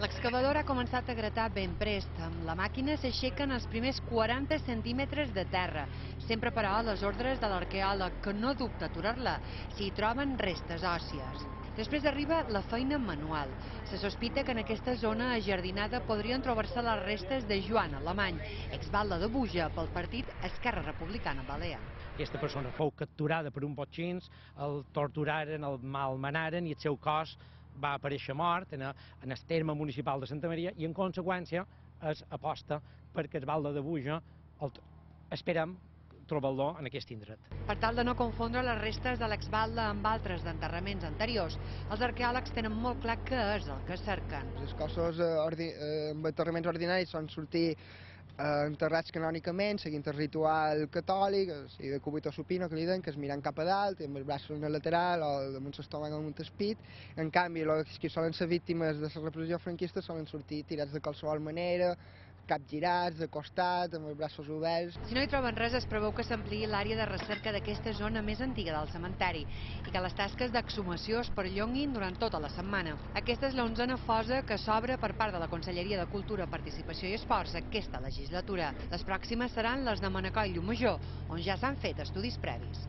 L'excavadora ha començat a gratar ben prest. Amb la màquina s'aixequen els primers 40 centímetres de terra. Sempre, però, a les ordres de l'arqueòleg, que no dubta a aturar-la si hi troben restes òssies. Després arriba la feina manual. Se sospita que en aquesta zona ajardinada podrien trobar-se les restes de Joan Alemany, exbatlle de Buja pel partit Esquerra Republicana Balear. Aquesta persona fou capturada per uns botxins, el torturaren, el malmenaren i el seu cos va aparèixer mort en el terme municipal de Santa Maria i en conseqüència es aposta perquè el batlle de Buja esperem trobar-lo en aquest indret. Per tal de no confondre les restes de l'exbatlle amb altres d'enterraments anteriors, els arqueòlegs tenen molt clar què és el que cerquen. Els cossos amb enterraments ordinaris són sortir enterrats canònicament, seguint el ritual catòlic, o sigui, de cúbito supino, que li diuen, que és mirant cap a dalt, amb els braços en el lateral o damunt l'estómac o damunt el pit. En canvi, els que solen ser víctimes de la repressió franquista solen sortir tirats de qualsevol manera, capgirats, de costat, amb els braços oberts. Si no hi troben res, es preveu que s'ampliï l'àrea de recerca d'aquesta zona més antiga del cementeri i que les tasques d'exhumació es perllonguin durant tota la setmana. Aquesta és l'11a fosa que s'obre per part de la Conselleria de Cultura, Participació i Esports aquesta legislatura. Les pròximes seran les de Manacor i Llucmajor, on ja s'han fet estudis previs.